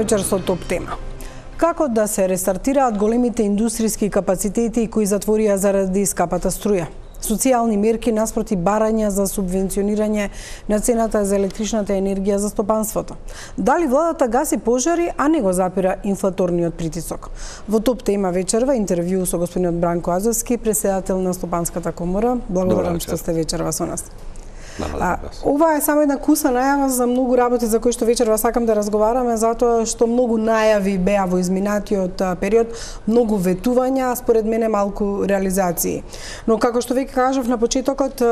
вечер со топ тема. Како да се рестартираат големите индустријски капацитети кои затворија заради скапата струја? Социјални мерки наспроти барања за субвенционирање на цената за електричната енергија за стопанството. Дали владата гаси пожари, а не го запира инфлаторниот притисок? Во топ тема вечерва интервју со господинот Бранко Азовски, председател на Стопанската комора. Благодарам што сте вечерва со нас. Ова е само една куса најава за многу работи за кои што вечерва сакам да разговараме, затоа што многу најави беа во изминатиот период, многу ветувања, според мене малку реализации. Но како што веќе кажав на почетокот,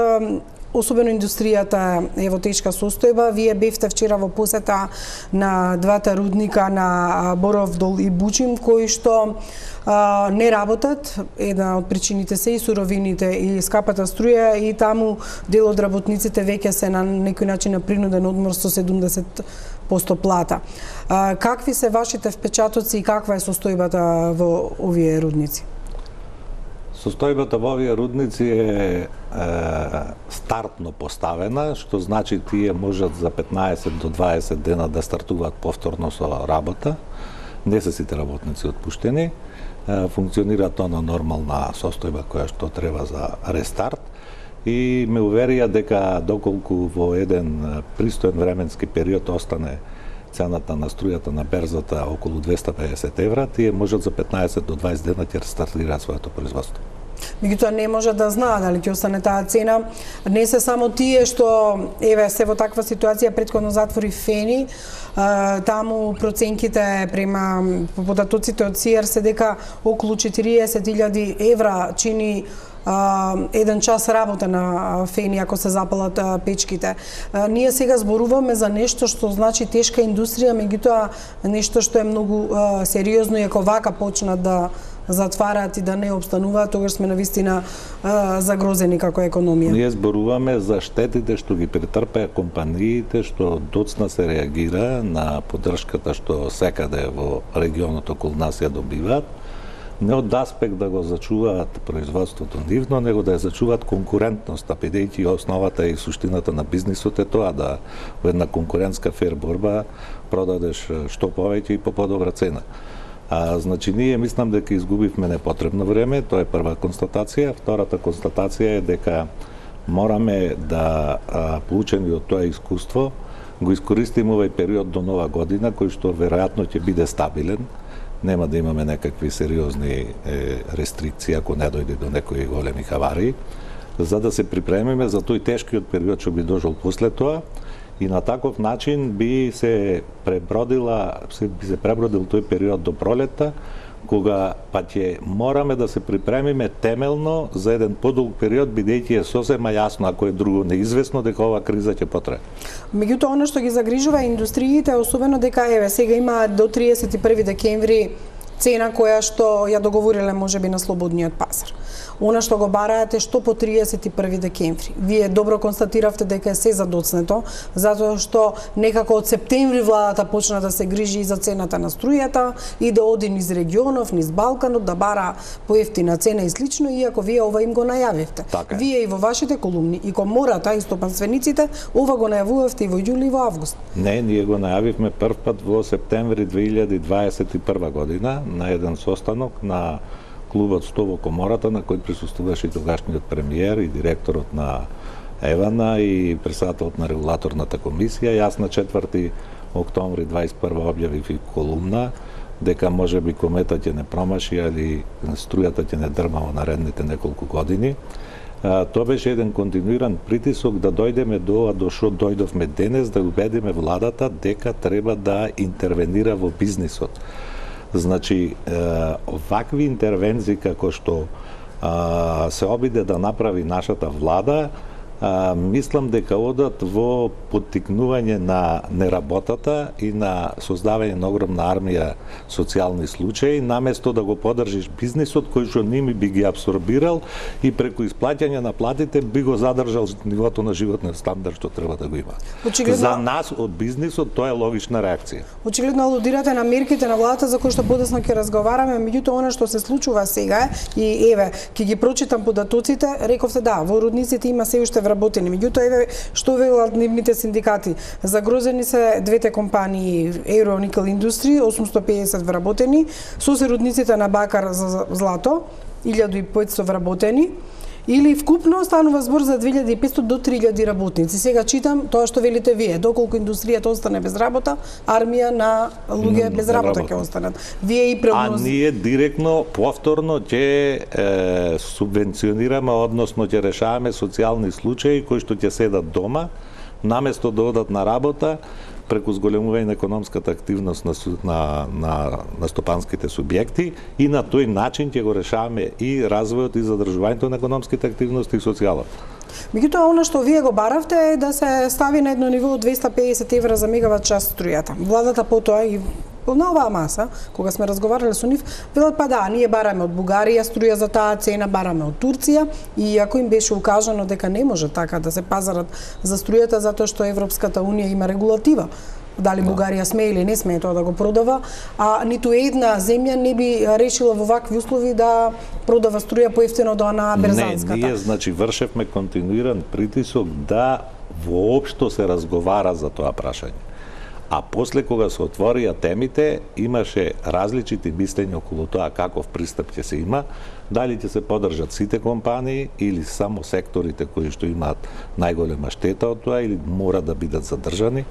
особено индустријата е во тешка состојба. Вие бевте вчера во посета на двата рудника на Боров Дол и Бучим, кои што не работат. Една од причините се и суровините и скапата струја, и таму дел од работниците веќе се на некој начин на принуден одмор со 70% плата. Какви се вашите впечатоци и каква е состојбата во овие рудници? Состојбата во овие рудници е стартно поставена, што значи тие можат за 15 до 20 дена да стартуваат повторно со работа. Не се сите работници отпуштени. Функционира тоа на нормална состојба која што треба за рестарт, и ме уверија дека доколку во еден пристоен временски период остане цената на струјата на берзата околу 250 евра, тие можат за 15 до 20 дена ќе рестартираат своето производство. Меѓутоа не може да знаат дали ќе остане таа цена. Не се само тие што се во таква ситуација, претходно затвори Фени. Таму проценките према податоците од СИЕР се дека околу 40.000 евра чини еден час работа на Фени ако се запалат печките. Ние сега зборуваме за нешто што значи тешка индустрија, меѓутоа нешто што е многу сериозно, и ако вака почнат да затвараат и да не обстануваат, тогаш сме навистина загрозени како економија. Ние зборуваме за штетите што ги претрпеа компаниите, што доцна се реагира на поддршката што секаде во регионот околу нас ја добиваат, не од аспект да го зачуваат производството нивно, него да ја зачуваат конкурентноста, бидејќи основата и суштината на бизнисот е тоа да во една конкурентска фер борба продадеш што повеќе и по подобра цена. Значи, ние мислам дека изгубивме непотребно време, тоа е прва констатација. Втората констатација е дека мораме да, поучени од тоа искуство, го искористиме овој период до нова година, кој што веројатно ќе биде стабилен. Нема да имаме некакви сериозни рестрикции ако не дојде до некои големи хавари, за да се припремиме за тој тешкиот период што би дошол после тоа, и на таков начин би се пребродил тој период до пролетта, кога па ќе мораме да се припремиме темелно за еден подолг период, бидејќи е сосема јасно, ако е друго неизвестно, дека ова криза ќе потрае. Меѓутоа, оно што ги загрижува индустриите, особено дека сега има до 31 декември цена која што ја договориле можеби на слободниот пазар. Она што го бараат е што по 31 декември. Вие добро констатиравте дека е се задоцнето, затоа што некако од септември владата почна да се грижи и за цената на струјата и да оди низ регионов, низ Балканот, да бара поевтина цена и слично, иако вие ова им го најавивте. Вие и во вашите колумни, и комората, и стопанствениците, ова го најавувавте и во јули и во август. Не, ние го најавивме прв пат во септември 2021 година на еден состанок на клубот 100 во комората, на кој присуствуваше и тогашниот премиер и директорот на Евана и председателот на регулаторната комисија. Јас на 4 октомври 21 објавив и колумна дека можеби кометот ќе не промаши, али струјата ќе не дрма во наредните неколку години. Тоа беше еден континуиран притисок да дојдеме до што дојдовме денес, да убедиме владата дека треба да интервенира во бизнисот. Значи, вакви интервенции како што се обиде да направи нашата влада, мислам дека одат во поттикнување на неработата и на создавање на огромна армија социјални случаи, наместо да го поддржиш бизнисот кој што ними би ги абсорбирал и преку исплаќање на платите би го задржал нивото на животен стандард што треба да го има. За нас од бизнисот тоа е логична реакција. Очигледно алудирате на мерките на владата за кои што подоцна ќе разговараме, меѓутоа она што се случува сега и ќе ги прочитам податоците, рековте да, во рудниците има се уште вработени. Меѓутоа, еве што велат нивните синдикати. Загрозени се двете компании Euro Nickel Industry, 850 вработени, сосеродниците на Бакар за злато, 1500 вработени, или вкупно станува збор за 2500 до 3000 работници. Сега читам тоа што велите вие, доколку индустријата остане без работа, армија на луѓе без работа ќе останат. Вие и А ние директно, повторно ќе субвенционираме, односно ќе решаваме социјални случаи кои што ќе седат дома, наместо да одат на работа, преку зголемување на економската активност на стопанските субјекти и на тој начин ќе го решаваме и развојот и задржувањето на економските активности и социјалот. Меѓутоа, она што вие го баравте е да се стави на едно ниво од 250 евра за мегават час струјата. Владата потоа и на оваа маса, кога сме разговарале со нив, велат па да, ние бараме од Бугарија струја за таа цена, бараме од Турција, и ако им беше укажано дека не може така да се пазарат за струјата затоа што Европската унија има регулатива, дали Бугарија смее или не смее тоа да го продава, а ниту една земја не би решила во вакви услови да продава струја поевтино до на берзанската. Не, ние значи вршевме континуиран притисок да воопшто се разговара за тоа прашање. А после кога се отворија темите, имаше различити мислења околу тоа каков пристап ќе се има, дали ќе се поддржат сите компании или само секторите кои што имаат најголема штета од тоа или мора да бидат задржани.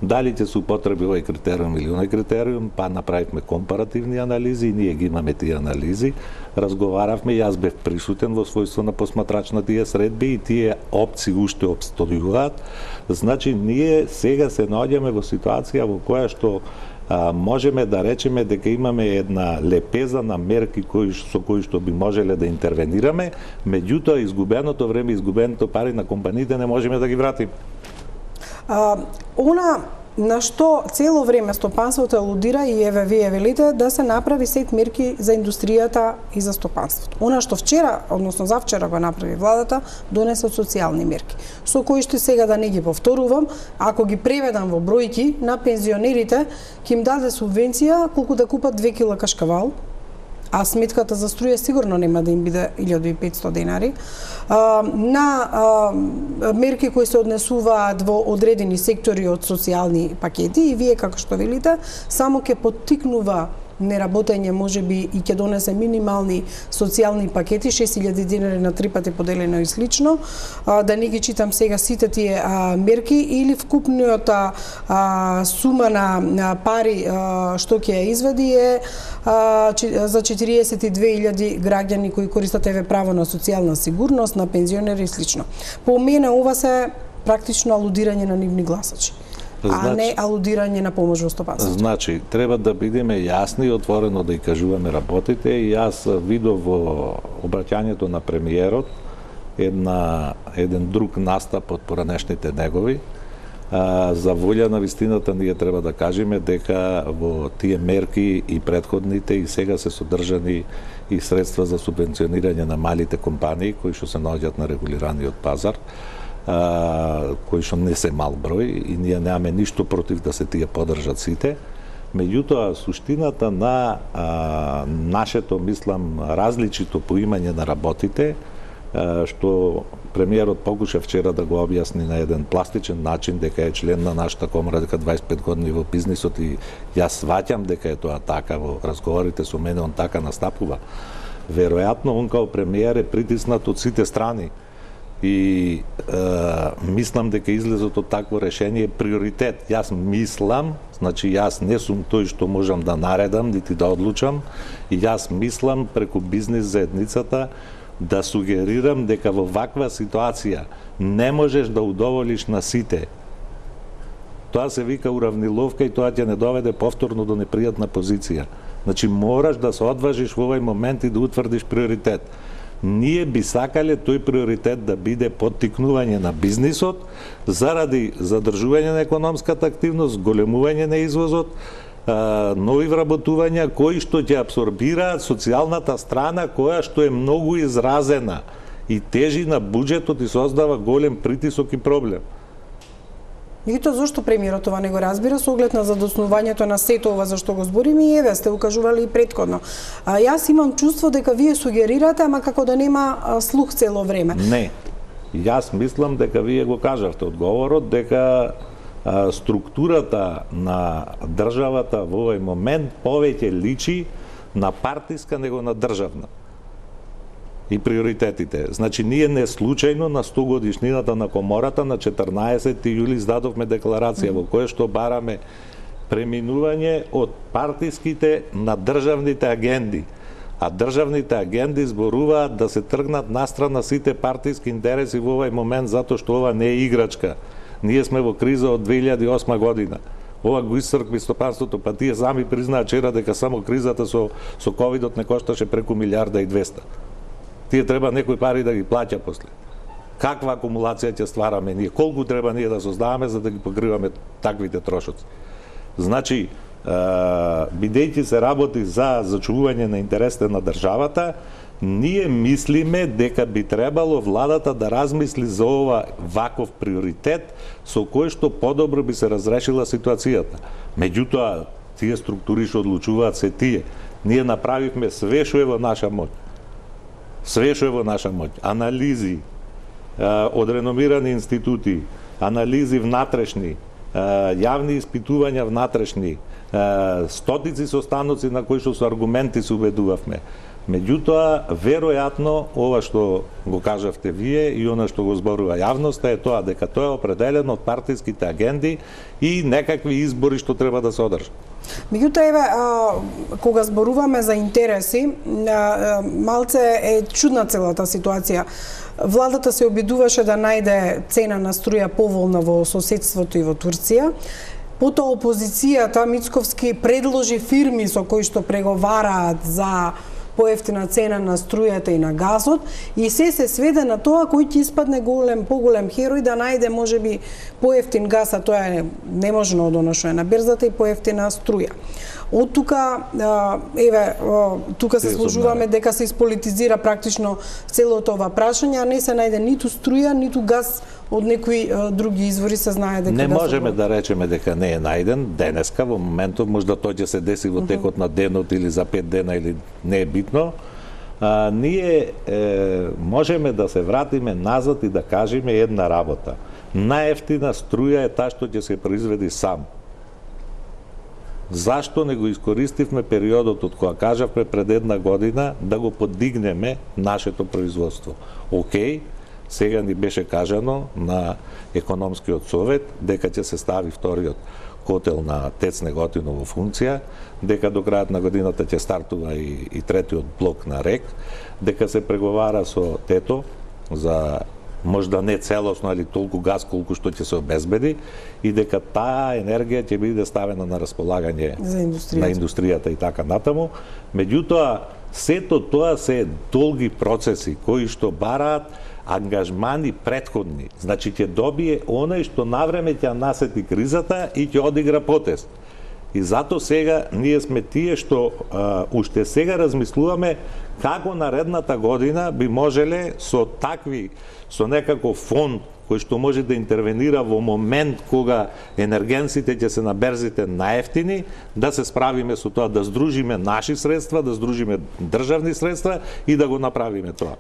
Дали ќе се употреби овој критериум или оној критериум, па направивме компаративни анализи и ние ги имаме тие анализи. Разговаравме, јас бев присутен во својство на посматрач на тие средби и тие опции уште обстојуваат. Значи, ние сега се наоѓаме во ситуација во која што можеме да речеме дека имаме една лепеза на мерки со кои што би можеле да интервенираме, меѓутоа изгубеното време, изгубеното пари на компаниите не можеме да ги вратиме. Она на што цело време стопанството алудира и еве вие велите да се направи сет мерки за индустријата и за стопанството. Она што вчера, односно завчера го направи владата, донесе социјални мерки, со кои што сега да не ги повторувам, ако ги преведам во бројки, на пензионерите ќе им даде субвенција колку да купат 2 кила кашкавал, а сметката за струја сигурно нема да им биде 1500 денари, на мерки кои се однесуваат во одредени сектори од социјални пакети, и вие, како што велите, само ќе поттикнува неработење, можеби и ќе донесе минимални социјални пакети, 6000 денари на 3 пати поделено и слично, да не ги читам сега сите тие мерки, или вкупниот сума на пари што ќе ја извади е за 42.000 граѓани кои користат еве право на социјална сигурност, на пензионери и слично. По мене ова се практично алудирање на нивни гласачи, а не алудирање на помош во стопанството. Значи, треба да бидеме јасни и отворено да и кажуваме работите, и јас видов во обраќањето на премиерот еден друг настап од поранешните негови. За волја на вистината ние треба да кажеме дека во тие мерки и предходните и сега се содржани и средства за субвенционирање на малите компании кои што се наоѓаат на регулираниот пазар, кои што не се мал број, и ние немаме ништо против да се тие поддржат сите. Меѓутоа, суштината на нашето, мислам, различито поимање на работите, што премиерот покуша вчера да го објасни на еден пластичен начин, дека е член на нашата комора, дека 25 години во бизнисот, и јас сваќам дека е тоа така, во разговорите со мене он така настапува. Веројатно, он као премиер е притиснат од сите страни, и мислам дека излезот од такво решение е приоритет. Јас мислам, значи јас не сум тој што можам да наредам, нити да одлучам, и јас мислам преку бизнис заедницата да сугерирам дека во ваква ситуација не можеш да удоволиш на сите. Тоа се вика уравниловка и тоа ќе не доведе повторно до непријатна позиција. Значи мораш да се одважиш во овој момент и да утврдиш приоритет. Ние би сакале тој приоритет да биде поттикнување на бизнисот заради задржување на економската активност, големување на извозот, нови вработувања кои што ќе апсорбираат социјалната страна која што е многу изразена и тежи на буџетот и создава голем притисок и проблем. Меѓутоа, зошто премиерот това не го разбира со оглед на задоснувањето на сето ова за што го збориме, и еве сте укажували и претходно. Јас имам чувство дека вие сугерирате, ама како да нема слух цело време. Не. Јас мислам дека вие го кажавте одговорот, дека структурата на државата во овој момент повеќе личи на партиска него на државна. И приоритетите. Значи, ние не случајно на 100 годишнината на Комората на 14 јули издадовме декларација во која што бараме преминување од партиските на државните агенди. А државните агенди зборуваат да се тргнат настрана сите партиски интереси во овој момент, затоа што ова не е играчка. Ние сме во криза од 2008 година. Ова го исцркви стопанството, па тие сами признаат вчера дека само кризата со ковидот не кошташе преку 1.200.000.000. Тие треба некои пари да ги плаќа после. Каква акумулација ќе ствараме ние? Колку треба ние да создаваме за да ги покриваме таквите трошоци? Значи, бидејќи се работи за зачувување на интересите на државата, ние мислиме дека би требало владата да размисли за ова ваков приоритет со кој што подобро би се разрешила ситуацијата. Меѓутоа, тие структури што одлучуваат се тие. Ние направивме све што е во наша моќ. Све што е во наша моќ. Анализи од реномирани институти, анализи внатрешни, јавни испитувања внатрешни, стотици состаноци на кои што со аргументи се убедувавме. Меѓутоа, веројатно, ова што го кажавте вие и она што го зборува јавноста е тоа дека тоа е определено од партиските агенди и некакви избори што треба да се одржат. Меѓутоа, еве, кога зборуваме за интереси, малце е чудна целата ситуација. Владата се обидуваше да најде цена на струја поволна во соседството и во Турција. Потоа опозицијата Мицковски предложи фирми со кои што преговараат за поевтина цена на струјата и на газот и се сведе на тоа кој ќе испадне поголем херој да најде можеби поевтин газ, а тоа е неможно од оно што е на берзата и поевтина струја. Од тука, еве, тука се сложуваме дека се ispolitizira практично целото ова прашање, а не се најде ниту струја, ниту газ од некои други извори, се знае дека не можеме да речеме дека не е најден денеска, во моментот можда тој ќе се деси во текот на денот или за 5 дена или не е битно. Ние можеме да се вратиме назад и да кажеме една работа. Најефтина струја е таа што ќе се произведи сам. Зашто не го искористивме периодот од кога кажавме пред една година да го подигнеме нашето производство? Океј, сега ни беше кажано на економскиот совет дека ќе се стави вториот котел на ТЕЦ Неготино во функција, дека до крајот на годината ќе стартува и третиот блок на РЕК, дека се преговара со ТЕТО за можда не целосно, али толку газ колку што ќе се обезбеди и дека таа енергија ќе биде ставена на располагање на индустријата и така натаму. Меѓутоа, сето тоа се долги процеси кои што бараат ангажмани претходни. Значи ќе добие оној што навреме ќе насети кризата и ќе одигра потез. И зато сега ние сме тие што уште сега размислуваме како наредната година би можеле со некаков фонд кој што може да интервенира во момент кога енергенсите ќе се на берзите наевтини, да се справиме со тоа, да здружиме наши средства, да здружиме државни средства и да го направиме тоа.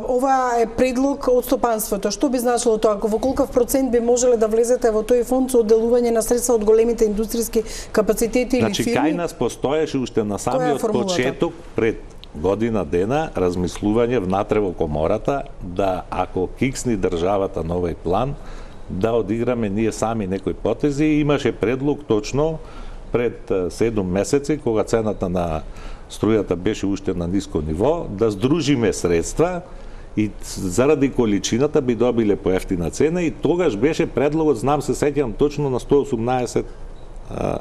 Ова е предлог од стопанството. Што би значило тоа? Во колков процент би можеле да влезете во тој фонд со одделување на средства од големите индустријски капацитети или фирми? Значи, кај нас постоеше уште на самиот почеток пред година дена размислување внатре во Комората да ако киксни државата на овој план да одиграме ние сами некои потези. Имаше предлог точно пред 7 месеци кога цената на струјата беше уште на ниско ниво да здружиме средства и заради количината би добиле поевтина цена и тогаш беше предлогот, знам се сеќавам точно на 118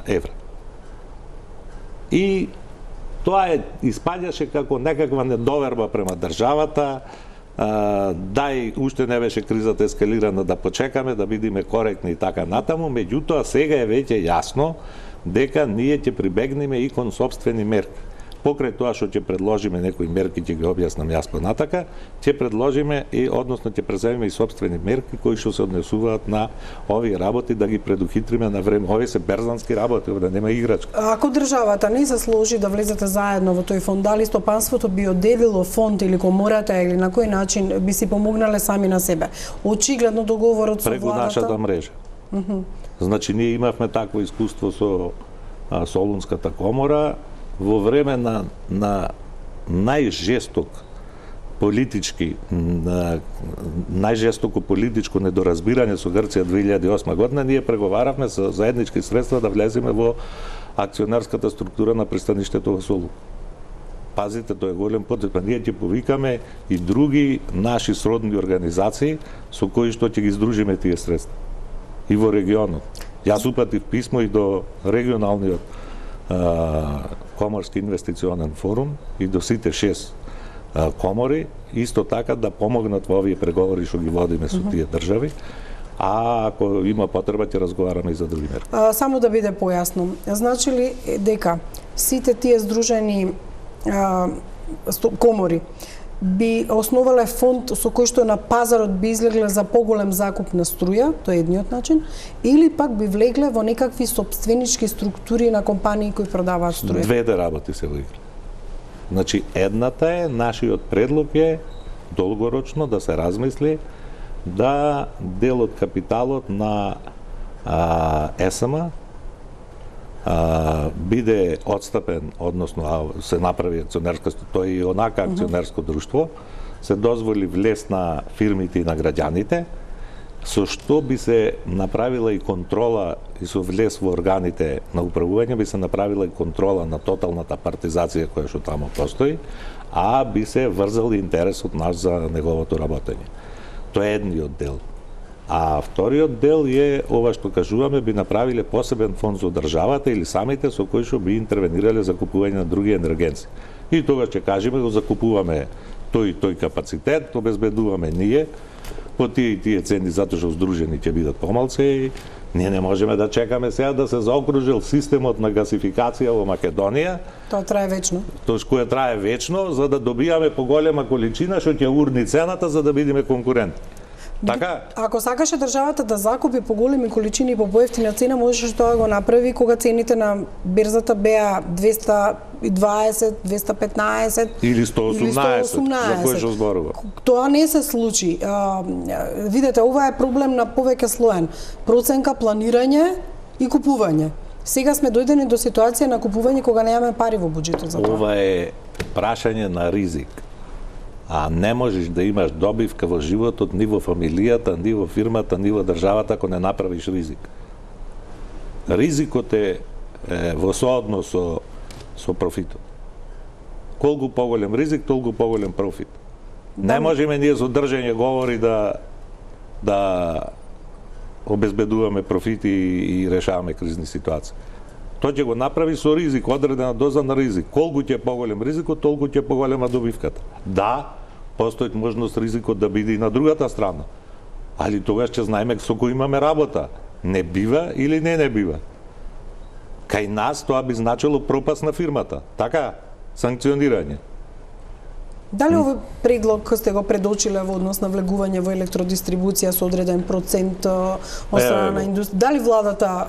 евра. И тоа испаѓаше како некаква недоверба према државата, дај уште не беше кризата ескалирана да почекаме, да бидеме коректни и така натаму, меѓутоа сега е веќе јасно дека ние ќе прибегнеме и кон сопствени мерки. покрај тоа што ќе предложиме некои мерки, ќе ги објаснам јас понатака, ќе предложиме и односно ќе преземеме и сопствени мерки кои што се однесуваат на овие работи да ги предухитриме на време. Овие се берзански работи, овде нема играчка. Ако државата не се сложи да влезете заедно во тој фонд, дали стопанството би одделило фонд или комората или на кој начин би си помогнале сами на себе? Очигледно договорот со владата преку нашата мрежа. Значи ние имавме такво искуство со Солунската комора во време на најжесток политички најжестоко политичко недоразбирање со Грција 2008 година, ние преговаравме со заеднички средства да влеземе во акционерската структура на пристаништето во Солун. Пазите, тој е голем потреба. Ние ќе повикаме и други наши сродни организации со кои што ќе ги здружиме тие средства и во регионот. Јас упатив писмо и до регионалниот коморски инвестиционен форум и до сите 6 комори, исто така да помогнат во овие преговори што ги водиме со тие држави, а ако има потреба ќе разговараме и за други мерки. Само да биде појасно, значи ли дека сите тие здружени комори би основале фонд со кој што на пазарот би излегле за поголем закуп на струја, тоа е едниот начин, или пак би влегле во некакви сопственички структури на компании кои продаваат струја? Двете работи се во игра. Значи, едната е, нашиот предлог е долгорочно да се размисли да дел од капиталот на ЕСМ биде отстапен, односно се направи акционерска, тој и онака акционерско друштво, се дозволи влез на фирмите и на граѓаните, со што би се направила и контрола и со влез во органите на управување би се направила и контрола на тоталната партизација која што таму постои, а би се врзал и интересот наш за неговото работење. Тоа е едниот дел. А вториот дел е ова што кажуваме, би направиле посебен фонд за државата или самите со кои што би интервенирале за купување на други енергенци. И тогаш ќе кажеме го закупуваме тој капацитет, обезбедуваме ние по тие и тие цени затоа што здружени ќе бидат помалце и ние не можеме да чекаме сега да се заокружил системот на гасификација во Македонија. Тоа трае вечно. Тоа што трае вечно за да добијаме поголема количина што ќе урни цената за да бидеме конкурентни. Така? Ако сакаше државата да закупи по големи количини и по поевтина цена, можеше тоа да го направи кога цените на берзата беа 220, 215 или 118, за кој што зборува. Тоа не се случи. Видете, ова е проблем на повеќе слоен. Проценка, планирање и купување. Сега сме дојдени до ситуација на купување кога немаме пари во буџетот за тоа. Ова е прашање на ризик. А не можеш да имаш добивка во животот ни во фамилијата, ни во фирмата, ни во државата ако не направиш ризик. Ризикот е во сооднос со профитот. Колку поголем ризик, толку поголем профит. Не можеме ние со држање говори да обезбедуваме профити и решаваме кризни ситуации. Тоа ќе го направи со ризик, одредена доза на ризик. Колку ќе поголем ризикот, толку ќе поголема добивката. Да, постои можност ризикот да биде и на другата страна. Али тогаш ќе знаеме со кој имаме работа. Не бива или не бива. Кај нас тоа би значило пропаст на фирмата. Така, санкционирање. Дали овој предлог сте го предочиле во однос на влегување во електродистрибуција со одреден процент од страна на индустрија? Дали владата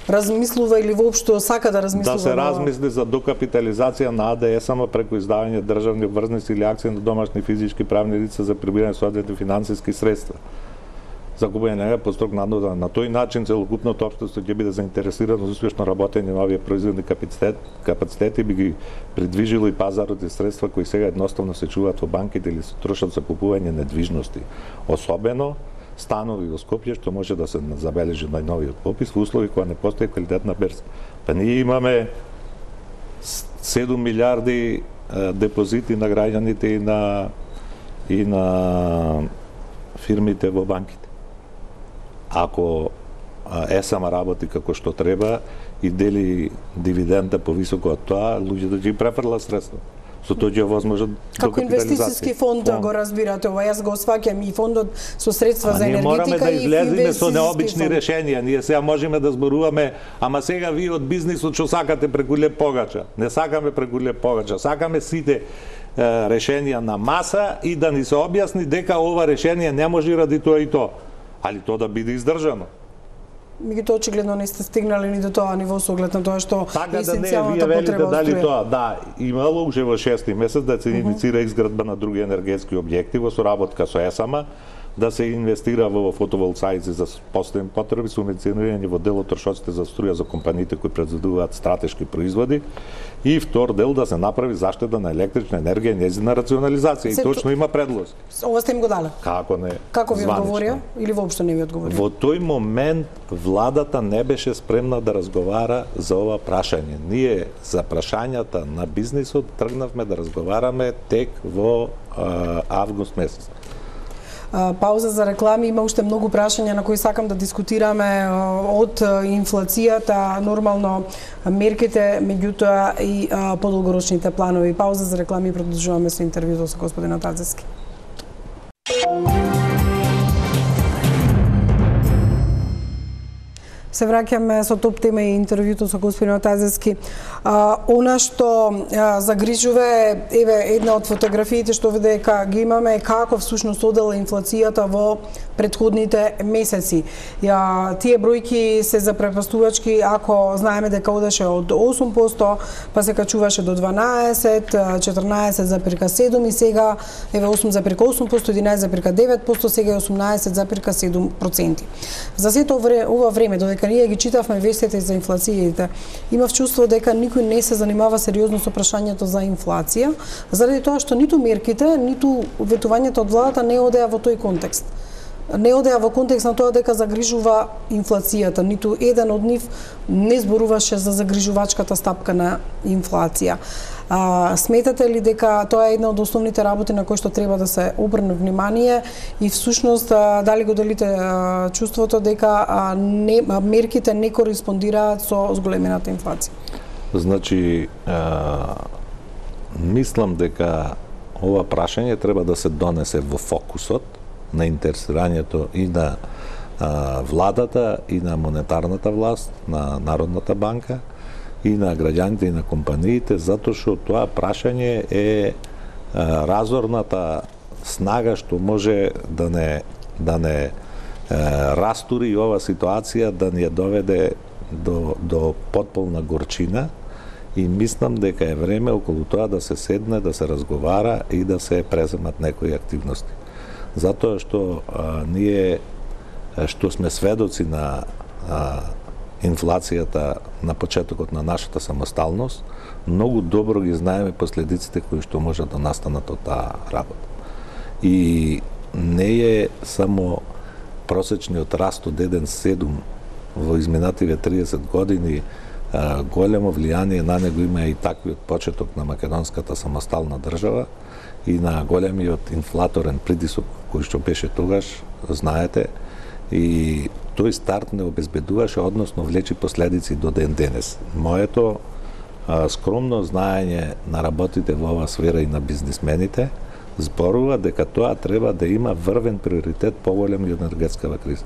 размислува или воопшто сака да размислува? Да се размисли за докапитализација на АДС преку издавање државни обврзници или акции на домашни физички правни лица за прибирање соодветни финансиски средства. Закупување на построг надзор. На тој начин целокупното општество ќе биде заинтересирано за успешно работење на овие производни капацитети, би ги придвижило и пазарот и средства кои сега едноставно се чуваат во банките или се трошат за купување недвижности. Особено станови во Скопје што може да се забележи најновиот попис во услови кога не постои квалитетна берза. Па ние имаме 7 милиарди депозити на граѓаните и на фирмите во банките. Ако ЕСМ работи како што треба и дели дивиденда повисоко од тоа, луѓето ќе префрлат средства. со тоа ќе возможат како инвестициски фонд го разбирате ова? Јас го сваќам и фондот со средства за енергетика и ние мораме да излеземе со необични решенија. Ние сега можеме да зборуваме, ама сега вие од бизнисот што сакате преку леп погача. Не сакаме преку леп погача. Сакаме сите решенија на маса и да ни се објасни дека ова решение не може ради тоа и тоа, али тоа да биде издржано. Меѓутоа очигледно не сте стигнали ни до тоа ниво со оглед на тоа што така есенцијалната потреба од дали струја. тоа, да, имало уже во 6-ти месец да се иницира изградба на други енергетски објекти во соработка со ЕСАМА, да се инвестира во фотоволтаици за постојни потреби, субвенционирање во дел од трошоците за струја за компаниите кои произведуваат стратешки производи и втор дел да се направи заштита на електрична енергија и нејзина рационализација. И точно има предлози. Ова сте им го дале? Како не? Како ви одговорија или воопшто не ви одговорија? Во тој момент владата не беше спремна да разговара за ова прашање. Ние за прашањата на бизнисот тргнавме да разговараме тек во август месец. Пауза за реклами, има уште многу прашања на кои сакам да дискутираме од инфлацијата, нормално мерките, меѓутоа и подолгорочните планови. Пауза за реклами и продолжуваме со интервјуто со господин Атазевски. Се враќаме со топ тема и интервјуто со господин Атазевски. Она што загрижува еве една од фотографиите што овде ги имаме е како всушност одела инфлацијата во претходните месеци. Тие бројки се запрепастувачки ако знаеме дека одеше од 8%, па се качуваше до 12, 14,7 и сега еве 8,8%, 11,9%, сега е 18,7%. За сето ова време додека ние ги читавме вестите за инфлацијите, имав чувство дека никој не се занимава сериозно со прашањето за инфлација, заради тоа што ниту мерките, ниту ветувањето од владата не одеа во тој контекст. Не одеа во контекст на тоа дека загрижува инфлацијата, ниту еден од нив не зборуваше за загрижувачката стапка на инфлација. Сметате ли дека тоа е една од основните работи на кои што треба да се обрне внимание и всушност дали го делите чувството дека мерките не кореспондираат со зголемената инфлација? Значи, мислам дека ова прашање треба да се донесе во фокусот на интересирањето и на владата, и на монетарната власт, на Народната банка, и на граѓаните, и на компаниите, затоа што тоа прашање е разорната снага што може да не растури ова ситуација, да ни ја доведе до потполна горчина, и мислам дека е време околу тоа да се седне, да се разговара и да се преземат некои активности. Затоа што ние што сме сведоци на инфлацијата на почетокот на нашата самосталност, многу добро ги знаеме последиците кои што можат да настанат од таа работа. И не е само просечниот раст од 1,7 во изминативе 30 години, големо влијание на него има и таквиот почеток на македонската самостална држава и на големиот инфлаторен притисок кој што беше тогаш, знаете, и тој старт не обезбедуваше, односно влечи последици до ден денес. Моето скромно знаење на работите во оваа сфера и на бизнисмените зборува дека тоа треба да има врвен приоритет поголем и од енергетскава криза.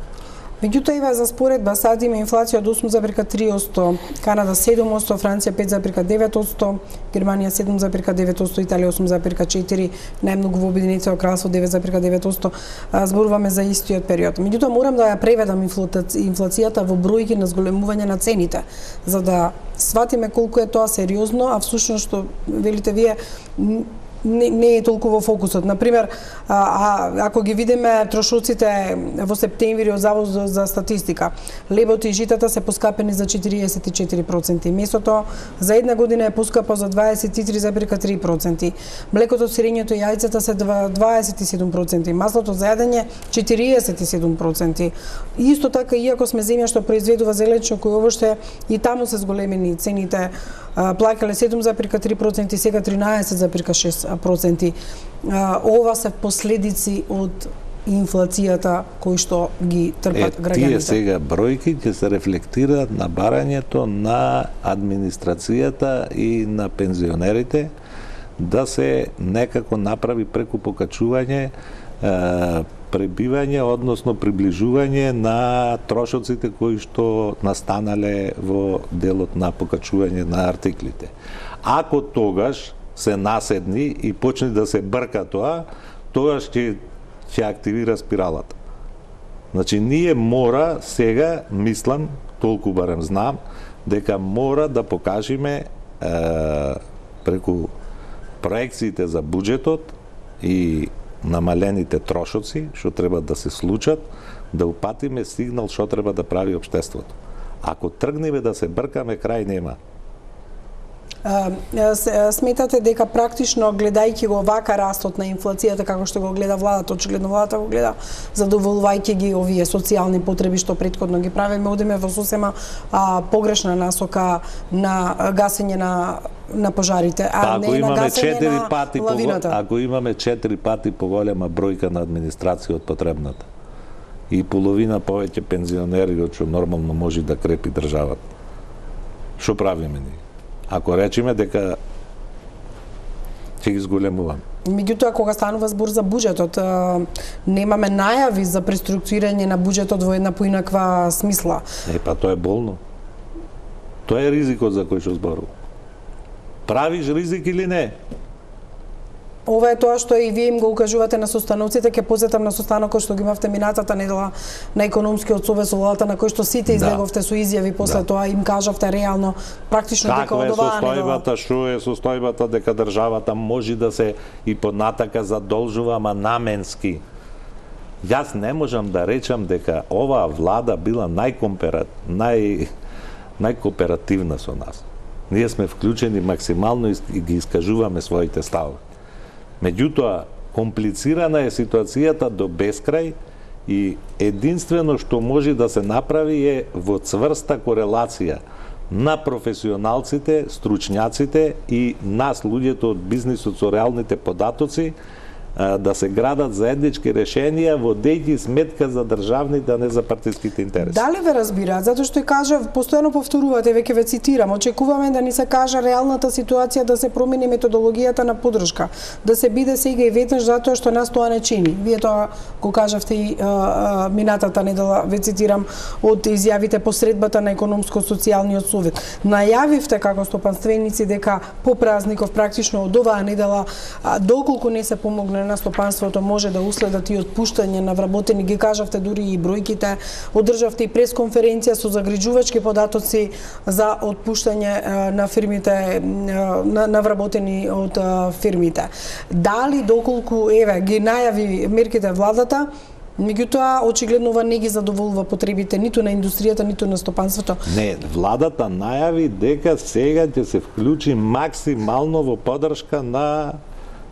Меѓутоа, ива за споредба, сад има инфлација од 8,3%, Канада 7%, Франција 5,9%, Германија 7,9%, Италија 8,4%, најмногу во Обединетото кралство 9,9%, зборуваме за истиот период. Меѓутоа, морам да ја преведам инфлацијата во бројки на зголемување на цените, за да сватиме колку е тоа сериозно, а всушност што велите вие не е толку во фокусот. Например, ако ги видиме трошоците во септември од Завод за статистика, лебот и житата се поскапени за 44%, месото за една година е поскапо за 23,3%, млекото, сирењето и јајцата се 27%, маслото за јадење 47%. Исто така, иако сме земја што произведува зеленчук, кој овоште и таму се зголемени цените, плаќале 7,3%, сега 13,6%. Ова се последици од инфлацијата кои што ги трпат граѓаните. Тие сега бројки ќе се рефлектираат на барањето на администрацијата и на пензионерите да се некако направи преку покачување пребивање, односно приближување на трошоците кои што настанале во делот на покачување на артиклите. Ако тогаш се наседни и почне да се брка тоа, тогаш ќе активира спиралата. Значи, ние мора сега, мислам, толку барем знам, дека мора да покажеме преку проекциите за буџетот и намалените трошоци, што треба да се случат, да упатиме сигнал што треба да прави општеството. Ако тргнеме да се бркаме, крај нема. Сметате дека практично гледајќи го вака растот на инфлацијата како што го гледа владата, очигледно владата го гледа задоволувајќи ги овие социјални потреби што претходно ги правиме, одиме во сосема погрешна насока на гасење на пожарите, не на гасење на лавината. Ако имаме 4 пати поголема бројка на администрација од потребната и половина повеќе пензионери од што нормално може да крепи државата, што правиме ние? Ако речеме дека ќе ги зголемуваме. Меѓутоа, кога станува збор за буџетот, немаме најави за преструктурирање на буџетот во една поинаква смисла. Па тоа е болно. Тоа е ризикот за кој што зборува. Правиш ризик или не? Ова е тоа што и вие им го укажувате на состановците, ќе посетам на состанокот што ги имавте минатата недела на економскиот совет со владата, на кој што сите излеговте со изјави после тоа, им кажавте реално практично дека од оваа недела. Што е состојбата дека државата може да се и понатака задолжува, ама наменски. Јас не можам да речам дека оваа влада била најкооперативна со нас. Ние сме вклучени максимално и ги искажуваме своите ставови. Меѓутоа, комплицирана е ситуацијата до бескрај и единствено што може да се направи е во цврста корелација на професионалците, стручњаците и нас, луѓето од бизнисот со реалните податоци, да се градат заеднички решенија водејќи сметка за државните, а не за партиските интереси. Дали ве разбираат? Затоа што кажа, постојано повторувате, веќе ве цитирам, очекуваме да ни се каже реалната ситуација, да се промени методологијата на поддршка, да се биде сега и веднаш затоа што нас тоа не чини. Вие тоа го кажавте и минатата недела, ве цитирам, од изјавите по средбата на економско-социјалниот совет. Најавивте како стопанственици дека по празников практично од оваа недела, доколку не се помогне на стопанството, може да уследат и отпуштање на вработени, ги кажавте дури и бројките, одржавте и пресконференција со загрижувачки податоци за отпуштање на фирмите, на вработени од фирмите. Дали доколку ги најави мерките владата, меѓутоа очигледно ова не ги задоволува потребите ниту на индустријата, ниту на стопанството? Не, владата најави дека сега ќе се вклучи максимално во поддршка на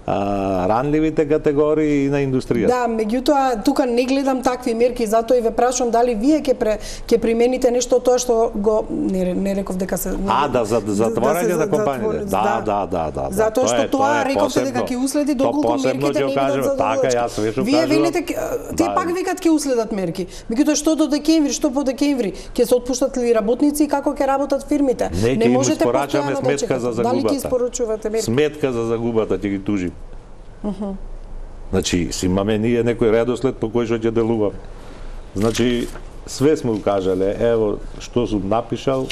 ранливите категории и на индустријата. Да, меѓутоа тука не гледам такви мерки, затоа и ве прашувам дали вие ќе примените нешто тоа што го не реков дека се за затворање на компаниите. Да. Затоа што тоа рековте дека ќе уследи доколку мерките не бидат задоволувачки. Така, јас веќе вие велите тие пак викат ќе уследат мерки. Меѓутоа што до декември, што по декември ќе се отпуштат ли работници и како ќе работат фирмите? Не можете постојано да чекате. Дали ќе испорачувате мерки? Сметка за загубата ќе ги тужи. Значи, имаме ние некој редослед по кој што ќе делуваме. Значи, све сме укажале, ево што сум напишал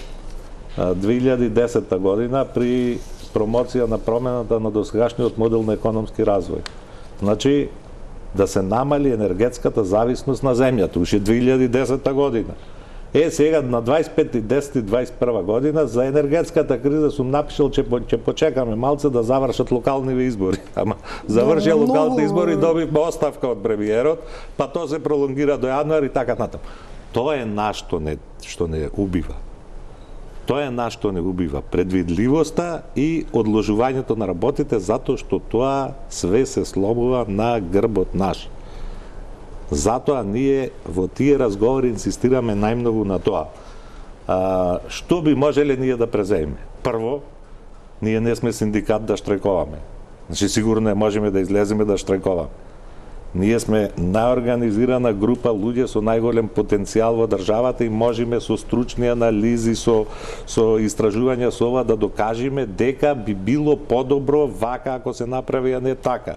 2010 година при промоција на промената на досегашниот модел на економски развој. Значи, да се намали енергетската зависност на земјата, уште 2010 година. Сега на 25.10.21 година за енергетската криза сум напишал че почекаме малце да завршат локалниве избори. Ама завршија локалните избори, добивме оставка од премиерот, па тоа се пролонгира до јануари и така натаму. Тоа е што не убива. Тоа е што не убива предвидливоста и одложувањето на работите, затоа што тоа све се сломува на грбот наш. Затоа ние во тие разговори инсистираме најмногу на тоа. Што би можеле ние да преземе? Прво, ние не сме синдикат да штрајковаме. Значи, сигурно не можеме да излеземе да штрајковаме. Ние сме најорганизирана група луѓе со најголем потенцијал во државата и можеме со стручни анализи, со истражувања со ова да докажеме дека би било подобро вака ако се направи, а не така.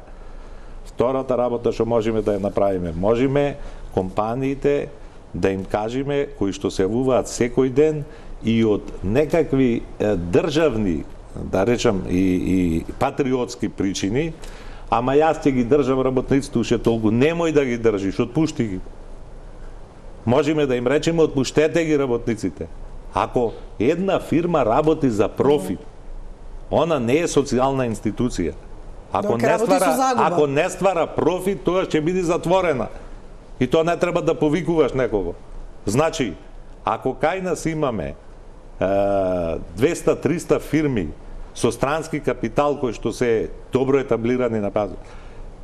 Втората работа што можеме да ја направиме, можеме компаниите да им кажеме, кои што се јавуваат секој ден и од некакви државни, да речам, и патриотски причини, ама јас ќе ги држам работниците уште толку, немој да ги држиш, отпушти ги. Можеме да им речеме, отпуштете ги работниците. Ако една фирма работи за профит, она не е социјална институција. Ако не ствара профит, тоа ќе биде затворена. И тоа не треба да повикуваш некого. Значи, ако кај нас имаме 200-300 фирми со странски капитал кои што се добро етаблирани на пазар,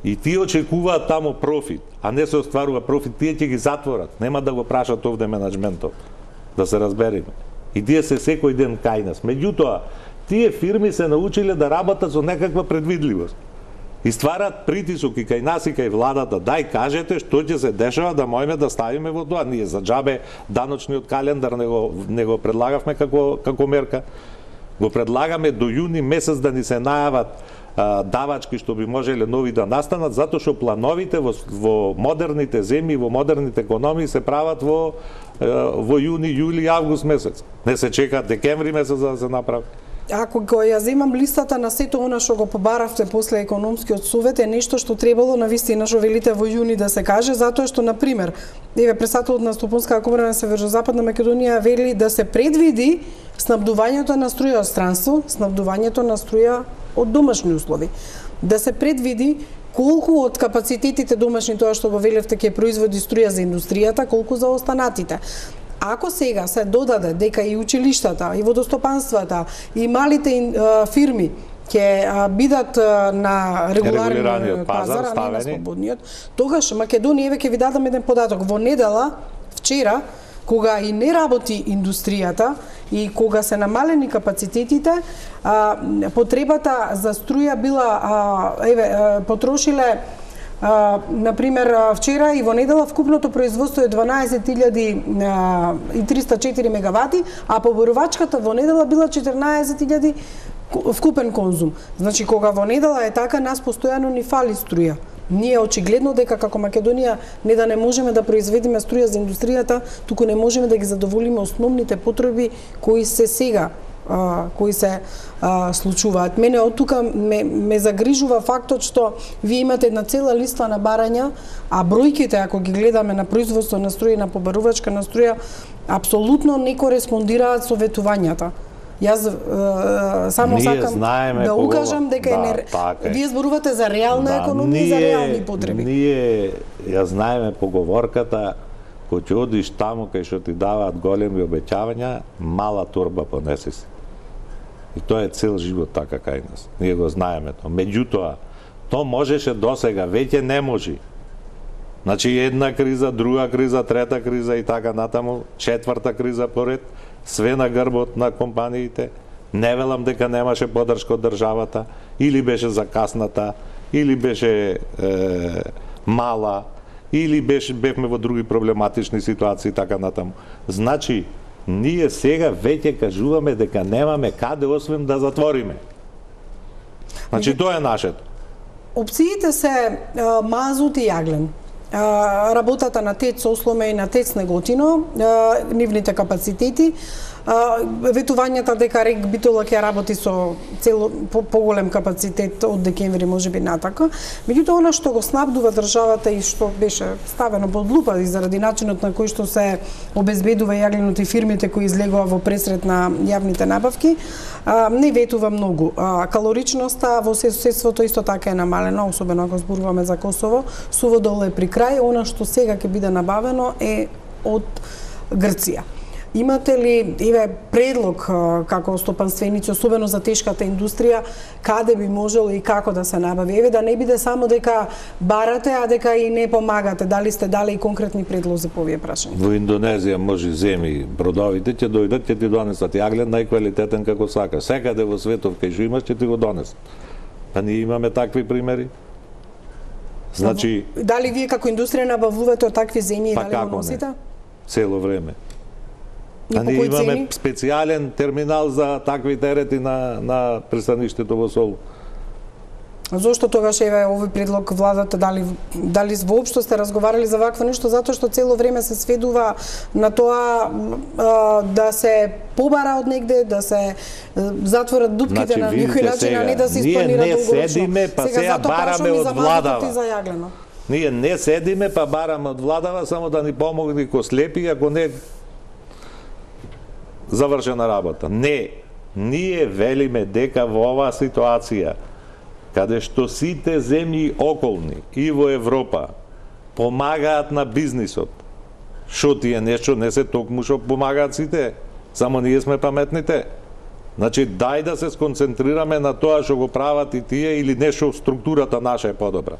и тие очекуваат таму профит, а не се остварува профит, тие ќе ги затворат. Нема да го прашат овде менаџментот, да се разбереме. И тие се секој ден кај нас. Меѓутоа, тие фирми се научиле да работат со некаква предвидливост. И стварат притисок и кај нас и кај владата. Дај кажете што ќе се дешава да можеме да ставиме во тоа. Ние за џабе даночниот календар не го предлагавме како мерка. Го предлагаме до јуни месец да ни се најават давачки што би можеле нови да настанат, затоа што плановите во модерните земји, во модерните економии се прават во јуни, јули, август месец. Не се чека декември месец за да се направи. Ако го ја земам листата на сето она што го побаравте после економскиот совет, е нешто што требало навистина што велите во јуни да се каже, затоа што, например, председателот на Стопанската комора на Северозападна Македонија вели да се предвиди снабдувањето на струја од странство, снабдувањето на струја од домашни услови. Да се предвиди колку од капацитетите домашни, тоа што го велевте, ќе производи струја за индустријата, колку за останатите. Ако сега се додаде дека и училиштата, и водостопанствата, и малите фирми ќе бидат на регуларниот пазар, а не на слободниот, тогаш Македонија, еве ќе ви дадам еден податок. Во недела, вчера, кога и не работи индустријата и кога се намалени капацитетите, потребата за струја била, потрошиле, например, вчера и во недела вкупното производство е 12.304 мегавати, а поборувачката во недела била 14.000 вкупен конзум. Значи, кога во недела е така, нас постојано ни фали струја. Ние очигледно дека како Македонија не да не можеме да произведеме струја за индустријата, туку не можеме да ги задоволиме основните потреби кои се сега кои се случуваат. Мене од тука ме загрижува фактот што вие имате една цела листа на барања, а бројките, ако ги гледаме на производство на струја и на побарувачка на струја, апсолутно не кореспондираат со ветувањата. Јас само сакам да укажам дека вие зборувате за реална економија и за реални потреби. Ние ја знаеме поговорката, кој ќе одиш таму кај што ти даваат големи обеќавања, мала торба понеси си. И тоа е цел живот така кај нас. Ние го знаеме тоа. Меѓутоа, тоа можеше досега, веќе не може. Значи една криза, друга криза, трета криза и така натаму, четврта криза поред, све на грбот на компаниите. Не велам дека немаше поддршка од државата, или беше закасната, или беше мала, или бевме во други проблематични ситуации така натаму. Значи, ние сега веќе кажуваме дека немаме каде освен да затвориме. Значи, тоа е нашето. Опциите се мазут и јаглен. Работата на ТЕЦ Осломе и на ТЕЦ Неготино, нивните капацитети, ветувањата дека РЕК Битола ќе работи со поголем капацитет од декември, можеби натака. Меѓутоа, она што го снабдува државата и што беше ставено под лупа и заради начинот на кој што се обезбедува јагленот и фирмите кои излегува во пресред на јавните набавки, не ветува многу. Калоричноста во соседството исто така е намалена, особено ако зборуваме за Косово. Суводол е при крај, она што сега ќе биде набавено е од Грција. Имате ли предлог како стопанственици, особено за тешката индустрија, каде би можело и како да се набави? Да не биде само дека барате, а дека и не помагате. Дали сте дали и конкретни предлози по овие прашања? Во Индонезија може земи бродовите, ќе дојдат, ќе ти донесат јаглен најквалитетен како сакаш. Секаде во светот кај што имаш ќе ти го донесат. Па ние имаме такви примери. Значи, дали вие како индустрија набавувате од такви земји и дали го носите? Цело време. И а ние имаме специјален терминал за такви терети на пристаништето во Солун. Зошто тогаш еве овој предлог владата дали воопшто сте разговарали за вакво нешто, затоа што цело време се сведува на тоа да се побара од негде, да се затворат дупките на некој начин, а не да се испланира долгорочно. Ние не седиме, па сега бараме од владава. Ние не седиме, па бараме од владава само да ни помогне ко слепи, ако не завршена работа. Не, ние велиме дека во оваа ситуација каде што сите земји околни и во Европа помагаат на бизнисот. Шо тие нешто не се токму што помагаат сите, само ние сме паметните. Значи, дај да се сконцентрираме на тоа што го прават и тие или нешто структурата наша е подобра.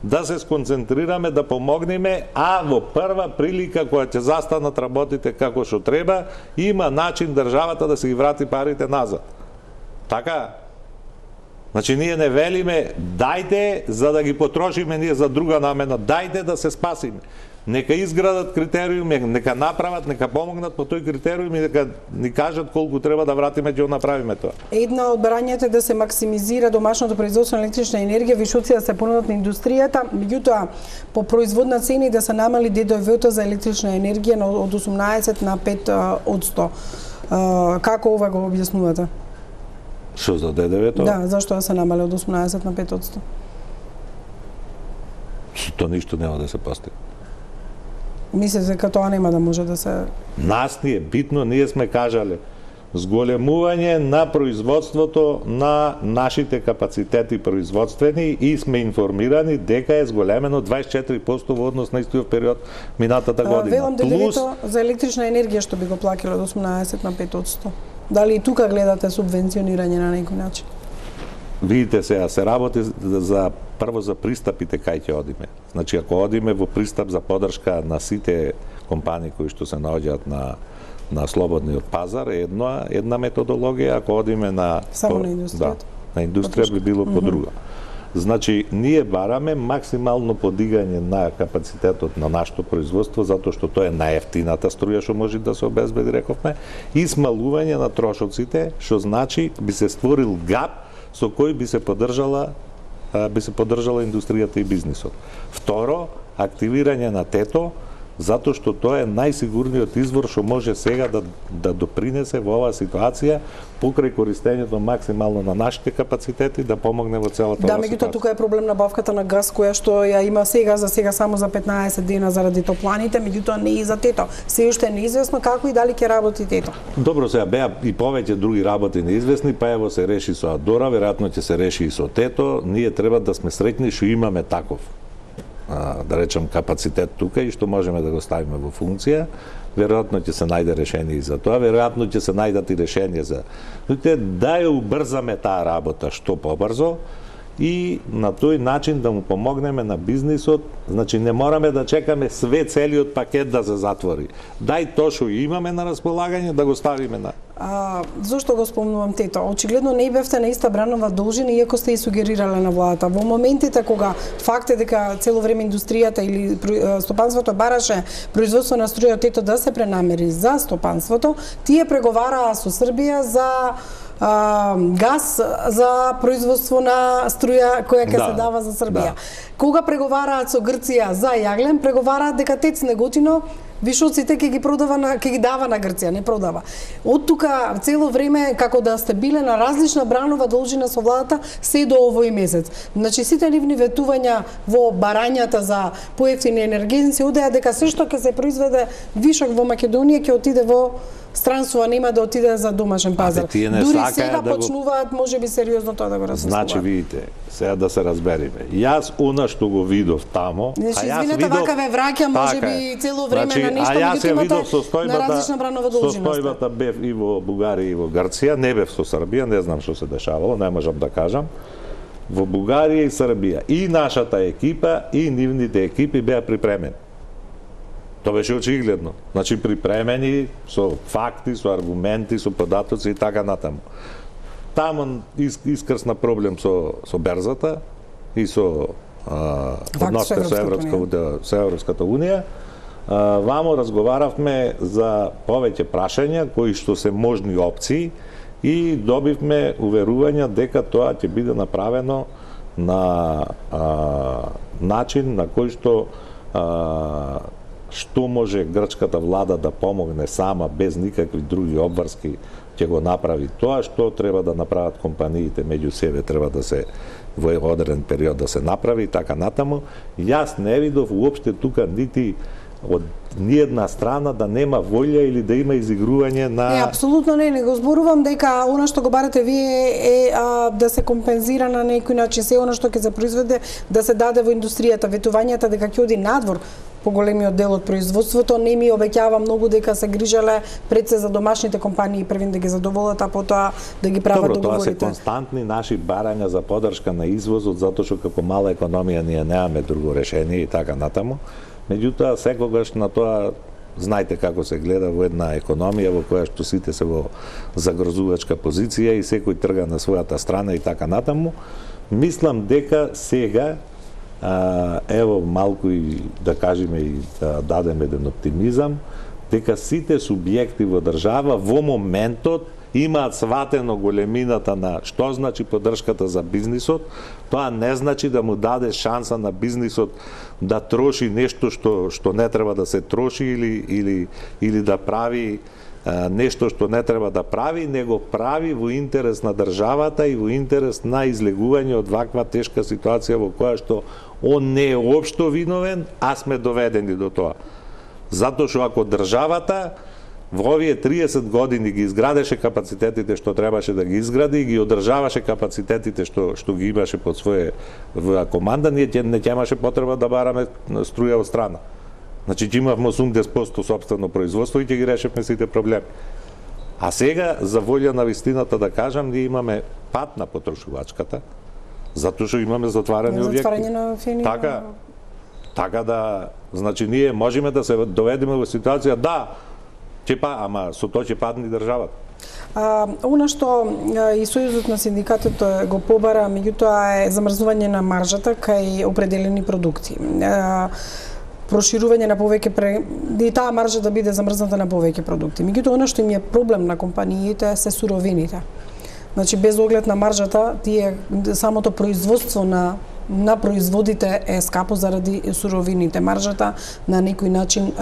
Да се сконцентрираме, да помогнеме, а во прва прилика која ќе застанат работите како што треба, има начин државата да се ги врати парите назад. Така? Значи, ние не велиме, дајте за да ги потрошиме ние за друга намена, дајте да се спасиме. Нека изградат критериуми, нека направат, нека помогнат по тој критериум и нека ни кажат колку треба да вратиме ќе го направиме тоа. Една од барањата е да се максимизира домашното производство на електрична енергија, вишоци да се понудат на индустријата, меѓутоа по производна цена и да се намали ДДВ-то за електрична енергија од 18 на 5%. Како ова го објаснувате? Што за ДДВ-то? Да, зашто да се намали од 18 на 5%? Тоа ништо нема да се постигне. Мислите дека тоа нема да може да се... Нас ни е битно, ние сме кажале, зголемување на производството на нашите капацитети производствени и сме информирани дека е зголемено 24% во однос на истиот период минатата година. Велам ДДВ-то за електрична енергија што би го плакило од 18 на 5%. Дали и тука гледате субвенционирање на некој начин? Видите сега, се работи за прво за пристапите кај ќе одиме. Значи, ако одиме во пристап за подршка на сите компании кои што се наоѓаат на слободниот пазар, една методологија, ако одиме на... Само на индустријата? Да, на индустрија би било по друга. Значи, ние бараме максимално подигање на капацитетот на нашето производство, затоа што тоа е најефтината струја што може да се обезбеди, рековме, и смалување на трошоците, што значи би се створил гап со кој би се поддржала индустријата и бизнисот. Второ, активирање на ТЕТО, затоа што тоа е најсигурниот извор што може сега да допринесе во оваа ситуација покрај користењето максимално на нашите капацитети да помогне во целата оваа ситуација. Да, меѓутоа тука е проблем на бавката на газ која што ја има сега само за 15 дена заради топланите, меѓутоа не и за ТЕТО. Се уште е неизвестно како и дали ќе работи ТЕТО. Добро, сега беа и повеќе други работи неизвестни, па ево се реши со Адора, веројатно ќе се реши и со ТЕТО. Ние треба да сме среќни што имаме таков, да речем, капацитет тука и што можеме да го ставиме во функција. Веројатно ќе се најде решение и за тоа, веројатно ќе се најдат и решение за... Да ја убрзаме таа работа што побрзо и на тој начин да му помогнеме на бизнисот. Значи, не мораме да чекаме целиот пакет да се затвори. Дај тоа што имаме на располагање да го ставиме на... Зошто го спомнувам ТЕТО? Очигледно не бевте на иста бранова должина, иако сте и сугерирале на владата. Во моментите кога факт е дека цело време индустријата или стопанството бараше производство на струја од ТЕТО да се пренамери за стопанството, тие преговараа со Србија за газ за производство на струја која ќе се дава за Србија. Кога преговараат со Грција за јаглен, преговараат дека ТЕЦ Неготино вишоците ќе ги дава на Грција, не продава. Од тука цело време како да сте биле на различна бранова должина со владата се до овој месец. Значи сите нивни ветувања во барањата за поевтини енергенци одеа дека се што ќе се произведе вишок во Македонија ќе отиде во странство, нема да отиде за домашен пазар. Дури сега почнуваат можеби сериозно тоа да го размислуваат. Значи видите, сега да се разбериме. Јас она што го видов тамо, извинете, вака ве враќа можеби цело време на нешто, меѓутоа на различна бранова должина. Состојбата бев и во Бугарија и во Грција, не бев со Србија, не знам што се дешавало, не можам да кажам. Во Бугарија и Србија и нашата екипа и нивните екипи беа припремени. Тоа беше очигледно. Значи припремени со факти, со аргументи, со податоци и така натаму. Таму искрсна проблем со берзата и со односите со Европската унија, вамо разговаравме за повеќе прашања кои што се можни опции и добивме уверување дека тоа ќе биде направено на начин на кој што може грчката влада да помогне сама без никакви други обврски ќе го направи тоа, што треба да направат компаниите меѓу себе, треба да се во одреден период да се направи и така натаму. Јас не видов уопште тука нити од ниедна страна да нема волја или да има изигрување на... Не, апсолутно не го зборувам дека она што го барате вие е да се компензира на некој начин се она што ќе се произведе да се даде во индустријата, ветувањата дека ќе оди надвор поголемиот дел од производството, не ми обеќава многу дека се грижале пред се за домашните компании првин да ги задоволат, а потоа да ги прават договорите. Тоа се константни наши барања за поддршка на извозот, затоа што како мала економија ние немаме друго решение и така натаму. Меѓутоа, секогаш на тоа, знаете како се гледа во една економија во која што сите се во загрозувачка позиција и секој трга на својата страна и така натаму. Мислам дека сега, ево малку и да кажеме и да дадеме еден оптимизам, дека сите субјекти во држава во моментот имаат сватено големината на што значи поддршката за бизнисот. Тоа не значи да му даде шанса на бизнисот да троши нешто што не треба да се троши или да прави нешто што не треба да прави, него прави во интерес на државата и во интерес на излегување од ваква тешка ситуација во која што он не е општо виновен, а сме доведени до тоа. Затоа што ако државата во овие 30 години ги изградеше капацитетите што требаше да ги изгради и ги одржаваше капацитетите што ги имаше под своја команда, ние не имаше потреба да бараме струја од страна. Значи ќе имавме 80% собствено производство и ќе ги решевме сите проблеми. А сега, за волја на вистината да кажам, ние имаме пат на потрошувачката, затоа што имаме затварани објекти. Затварање на фини. Така да, значи ние можеме да се доведеме во ситуација ама со тоа ќе падне државата. Она што и Сојузот на синдикатот го побара, меѓутоа е замрзнување на маржата кај определени продукти. Проширување на повеќе и таа маржа да биде замрзната на повеќе продукти. Меѓутоа она што им е проблем на компаниите се суровините. Значи без оглед на маржата, самото производство на производите е скапо заради суровините. Маржата на некој начин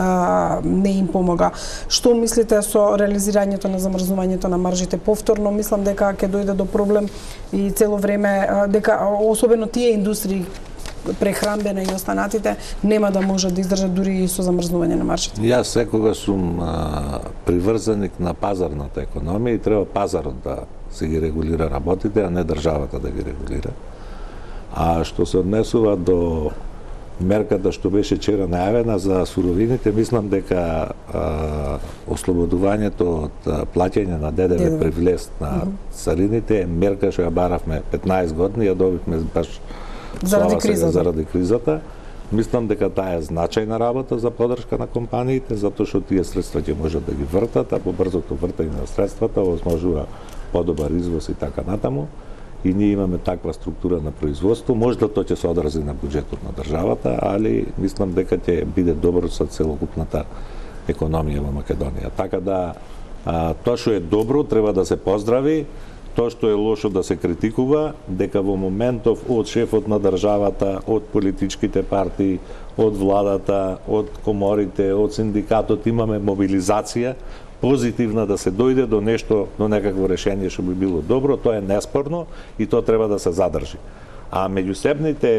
не им помога. Што мислите со реализирањето на замрзнувањето на маржите повторно? Мислам дека ќе дојде до проблем и цело време дека особено тие индустрии прехранбена и останатите нема да можат да издржат дури и со замрзнување на маржите. Јас секогаш сум приврзаник на пазарната економија и треба пазарот да се ги регулира работите, а не државата да ги регулира. А што се однесува до мерката што беше вчера најавена за суровините, мислам дека ослободувањето од плаќање на ДДВ при влез на царините е мерка што ја баравме 15 години, ја добивме баш заради кризата. Мислам дека таа е значајна работа за поддршка на компаниите, затоа што тие средства ќе можат да ги вртат, а по брзото вртање на средствата овозможува подобар извоз и така натаму. И ние имаме таква структура на производство, можда тоа ќе се одрази на буџетот на државата, али мислам дека ќе биде добро со целокупната економија во Македонија. Така да тоа што е добро треба да се поздрави, тоа што е лошо да се критикува, дека во моментов од шефот на државата, од политичките партии, од владата, од коморите, од синдикатот имаме мобилизација позитивна да се дојде до нешто, до некакво решение што би било добро, тоа е неспорно и тоа треба да се задржи. А меѓусебните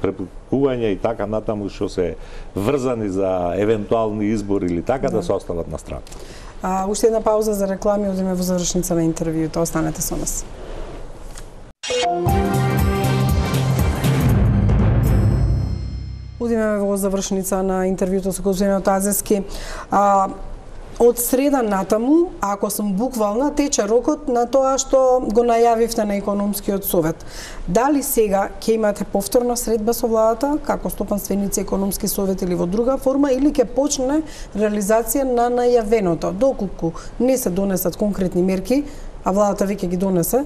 препукувања и така натаму што се врзани за евентуални избори или така да се остават на страна. Уште една пауза за реклами, одиме во завршница на интервјуто, останете со нас. Одиме во завршница на интервјуто со господинот Азески. Од среда натаму, ако сум буквална, тече рокот на тоа што го најавивте на економскиот совет. Дали сега ќе имате повторна средба со владата, како стопанственици економски совет или во друга форма, или ќе почне реализација на најавеното? Доколку не се донесат конкретни мерки, а владата веќе ги донесе,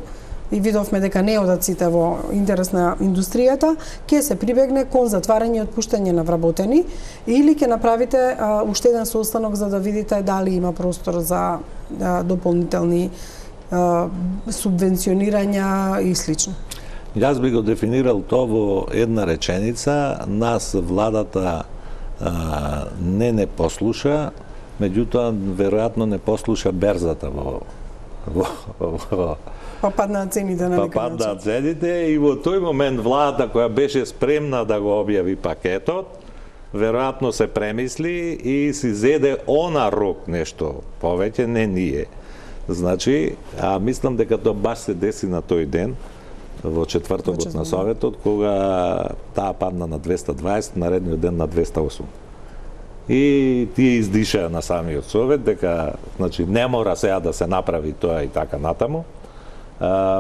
и видовме дека не одат сите во интерес на индустријата, ќе се прибегне кон затварање и отпуштање на вработени или ќе направите уште еден состанок за да видите дали има простор за дополнителни субвенционирања и слично? Јас би го дефинирал тоа во една реченица. Нас владата не послуша, меѓутоа веројатно не послуша берзата Па паднаа цените на некој начин. Паднаа цените и во тој момент владата која беше спремна да го објави пакетот, веројатно се премисли и си зеде она рок нешто повеќе, не ние. Значи, мислам дека тоа баш се деси на тој ден, во четвртокот на Советот, кога таа падна на 220, наредниот ден на 208. И тие издишаа на самиот Совет дека значи не мора сега да се направи тоа и така натаму.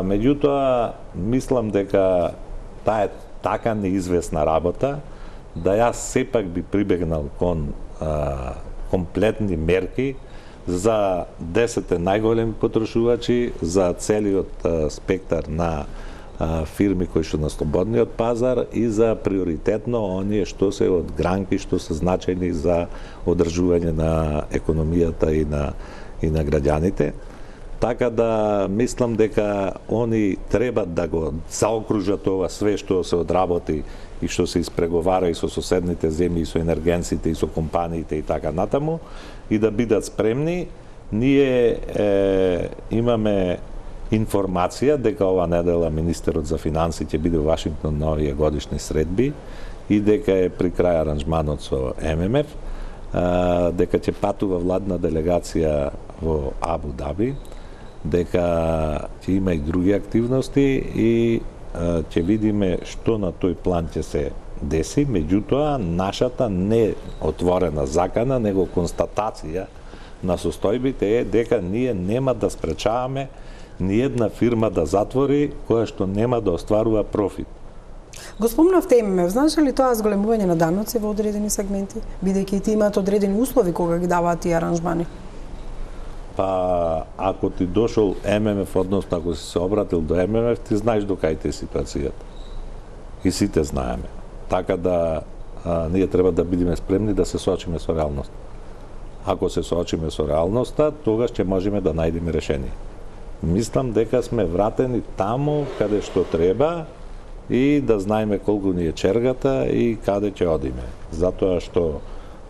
Меѓутоа, мислам дека таа е така неизвестна работа да јас сепак би прибегнал кон комплетни мерки за 10 најголеми потрошувачи, за целиот спектар на фирми кои што на слободниот пазар и за приоритетно оние што се од гранки што се значајни за одржување на економијата и на граѓаните. Така да мислам дека они треба да го заокружат ова све што се одработи и што се испреговара и со соседните земји, и со енергенците, и со компаниите и така натаму, и да бидат спремни. Ние имаме информација дека ова недела министерот за финансии ќе биде во Вашингтон на овие годишни средби и дека е при крај аранжманот со ММФ, дека ќе патува владна делегација во Абу Даби, дека ќе има и други активности и ќе видиме што на тој план ќе се деси. Меѓутоа, нашата не отворена закана, него констатација на состојбите е дека ние нема да спречаваме ни една фирма да затвори која што нема да остварува профит. Го спомнавте ММФ, знаеш ли тоа зголемување на даноци во одредени сегменти, бидејќи тие имаат одредени услови кога ги даваат тие аранжмани? Па, ако ти дошол ММФ, односно ако си се обратил до ММФ, ти знаеш до кај те ситуацијата. И сите знаеме. Така да ние треба да бидеме спремни да се соочиме со реалноста. Ако се соочиме со реалноста, тогаш ќе можеме да најдеме решение. Мислам дека сме вратени таму каде што треба и да знаеме колку ни е чергата и каде ќе одиме. Затоа што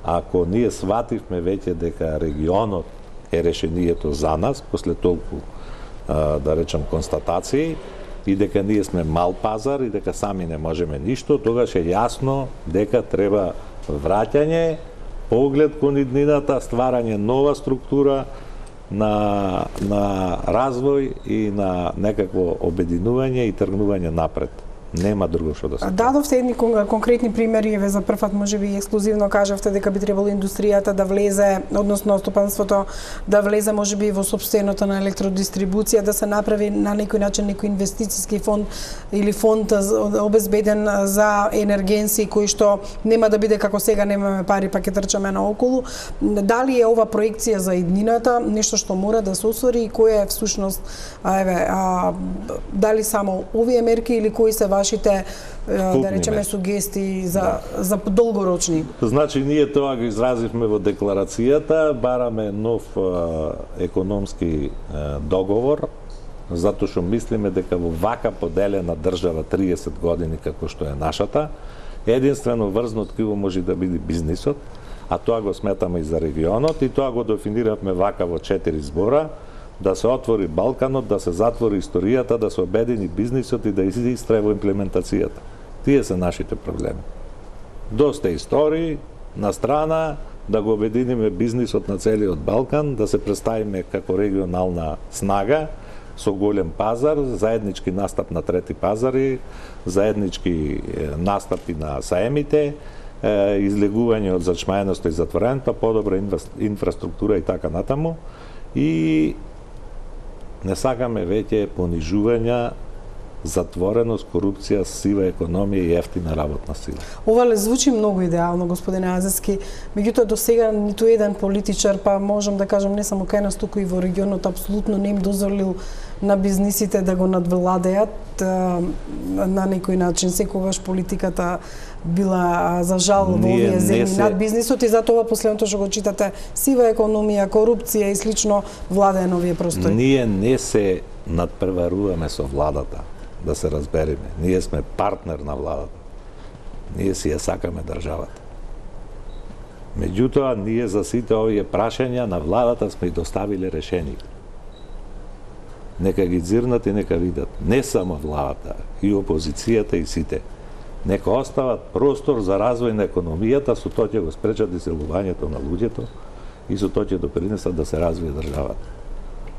ако ние свативме веќе дека регионот е решението за нас, после толку, да речем, констатации, и дека ние сме мал пазар и дека сами не можеме ништо, тогаш е јасно дека треба враќање, поглед кон иднината, стварање нова структура на развој и на некакво обединување и тргнување напред. Нема друго што да се. Дадовте едни конкретни примери, еве за прв пат можеби ексклузивно кажавте дека би требало индустријата да влезе, односно стопанството да влезе можеби во сопственото на електродистрибуција, да се направи на некој начин некој инвестициски фонд или фонд обезбеден за енергенси кои што нема да биде како сега немаме пари па ќе трчаме наоколу. Дали е ова проекција за иднината нешто што мора да се оствари и кој е всушност дали само овие мерки или кои се вашите, да речеме, сугестии за долгорочни? Значи, ние тоа го изразивме во декларацијата, бараме нов економски договор, затоа што мислиме дека во вака поделена држава 30 години како што е нашата, единствено врзно ткиво може да биде бизнисот, а тоа го сметаме и за регионот и тоа го дефиниравме вака во 4 збора, да се отвори Балканот, да се затвори историјата, да се обедини бизнисот и да изистре во имплементацијата. Тие се нашите проблеми. Доста истории на страна, да го обединиме бизнисот на целиот Балкан, да се представиме како регионална снага со голем пазар, заеднички настап на трети пазари, заеднички настапи на саемите, излегување од зачмаеноста и затвореноста, подобра инфраструктура и така натаму. И не сакаме веќе понижувања затвореност, корупција, сива економија и ефтина работна сила. Ова ле звучи многу идеално, господине Азевски. Меѓутоа до сега ниту еден политичар, па можам да кажам не само кај нас, туку и во регионот, апсолутно не им дозволил на бизнисите да го надвладеат на некој начин. Секогаш политиката била за жал во овие земји над бизнисот и затоа последното што го читате сива економија, корупција и слично владее на овие простори. Ние не се надпреваруваме со владата, да се разбереме. Ние сме партнер на владата. Ние си ја сакаме државата. Меѓутоа, ние за сите овие прашања на владата сме и доставиле решение. Нека ги зирнат и нека видат. Не само владата, и опозицијата и сите. Нека остават простор за развој на економијата, со тоа ќе го спречат иселувањето на луѓето и со тоа ќе допринесат да се развие државата.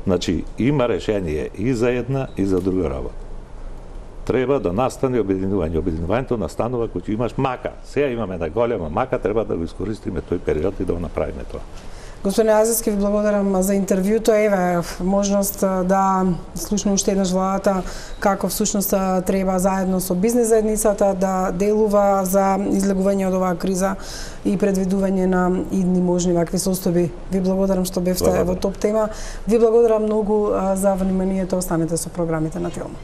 Значи, има решение и за една и за друга работа. Треба да настане обединување. Обединувањето настанува кога имаш мака. Сега имаме една голема мака, треба да го искористиме тој период и да го направиме тоа. Господине Азевски, ви благодарам за интервјуто. Еве, можност да слушне уште еднаш владата како всушност треба заедно со бизнес заедницата да делува за излегување од оваа криза и предвидување на идни можни вакви состојби. Ви благодарам што бевте во топ тема. Ви благодарам многу за вниманието. Останете со програмите на Телма.